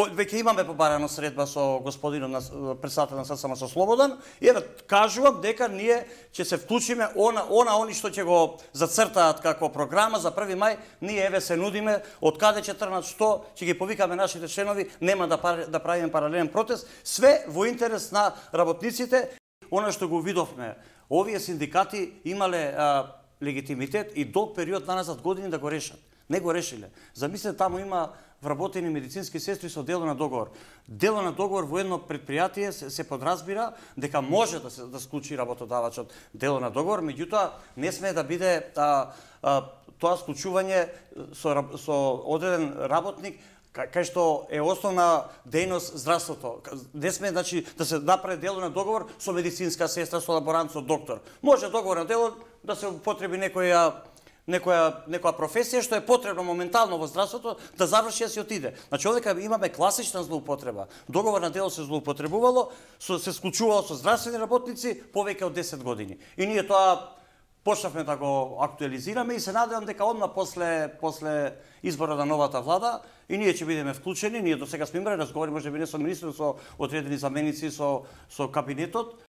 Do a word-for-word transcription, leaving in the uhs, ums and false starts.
веќе имаме побарано средба со господинот на председател на ССМ со Слободан и еве кажувам дека ние ќе се вклучиме она она они што ќе го зацртаат како програма за први мај, ние еве се нудиме од каде ќе тргнат, што ќе ги повикаме нашите членови, нема да да правиме паралелен протест, све во интерес на работниците. Она што го видовме, овие синдикати имале а, легитимитет и долг период наназад години да го решат. Не го решиле. Замислете, таму има вработени медицински сестри со дело на договор. Дело на договор во едно предпријатие се, се подразбира дека може да се да склучи работодавачот дело на договор, меѓутоа не сме да биде а, а, тоа склучување со со одреден работник кај што е основна дејност здравството. Не сме, значи, да се направи дело на договор со медицинска сестра, со лаборант, со доктор. Може договор на дело да се употреби некоја некоја некоја професија што е потребно моментално во здравството да заврши и се отиде. Значи овде имаме класична злоупотреба. Договор на дело се злоупотребувало, со се склучувало со здравствени работници повеќе од десет години. И ние тоа почнавме да го актуализираме и се надевам дека одма после после изборот на новата влада и ние ќе бидеме вклучени. Ние до сега сме имале разговори, можеби не со министрот, со одредени заменици, со со кабинетот,